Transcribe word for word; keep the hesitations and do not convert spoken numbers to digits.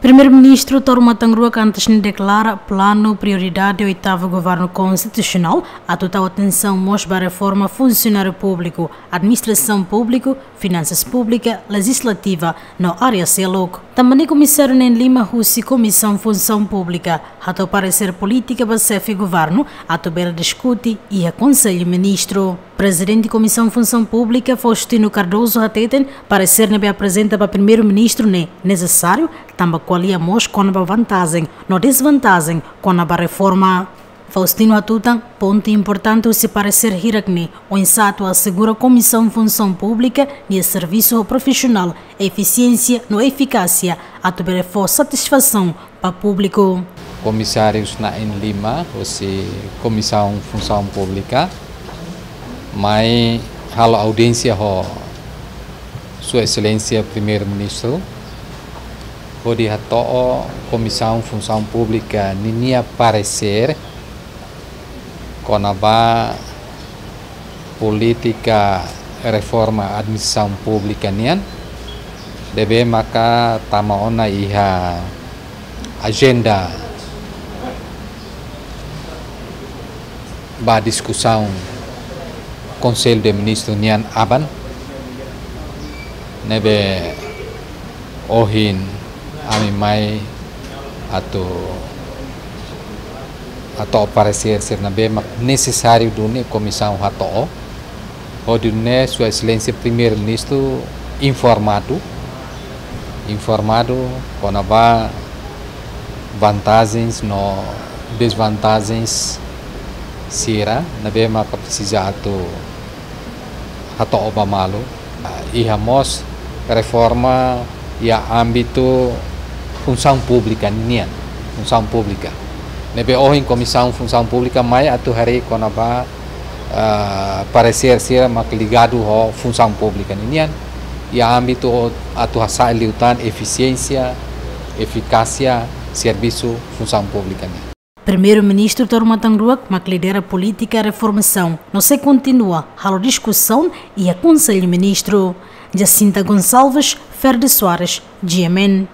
Primeiru-Ministru Taur Matan Ruak antes ne'e deklara planu prioridade oitavu Governu Konstitusionál atu tau atensaun mós ba reforma funsionáriu públiku, administrasaun públiku, finansas públika, lejizlativa no área seluk. Tanba ne'e komisáriu neen lima husi Komisaun Funsaun Públika hato'o paresér polítika ba xefe governu atu bele diskute iha Konsellu Ministru. Prezidente Komisaun Funsaun Públika, Faustino Cardoso, hateten paresér ne'ebé aprezenta ba Primeiru-Ministru ne'e nesesáriu, tanba ko'alia mós kona-ba vantajen no dezvantajen kona-ba reforma. Faustino hatutan, pontu importante husi paresér hirak ne'e oinsá atu asegura Komisaun Funsaun Públika nia servisu ho profisionál, efisiénsia no efikásia atu bele fó satisfasaun ba públiku. Komisárius na'in lima husi Komisaun Funsaun Públika mai halo audiénsia ho Sua Exelénsia Primeiru-Ministru, hodi hato'o Komisaun Funsaun Públika ninia paresér kona-ba polítika reforma administrasaun públika nian, ne'ebé maka tama ona iha ajenda ba diskusaun Konsellu de Ministru nian aban, ne'ebé ohin ami mai atu, atu hato'o paresér sira ne'ebé mak nesesáriu duni komisaun hato'o. Hodi nune'e Sua Exelénsia Primeiru-Ministru informadu, informadu kona-ba vantajens no dezvantajens sira ne'ebé maka presiza atu hato'o ba malu. Iha mós reforma iha ámbitu funsaun públika nian, funsaun públika. Ne'ebé ohin Komisaun Funsaun Públika mai atu haree kona-ba, ah, paresér sira mak ligadu ho funsaun públika nian. Iha ámbitu atu hasa'e liután efisiénsia, efikásia servisu funsaun públika nian. Primeiru-Ministru Taur Matan Ruak mak lidera polítika reformasaun no sei kontinua halo diskusaun iha Konsellu Ministru. Jacinta Gonçalves, Ferdi Soares, G M N.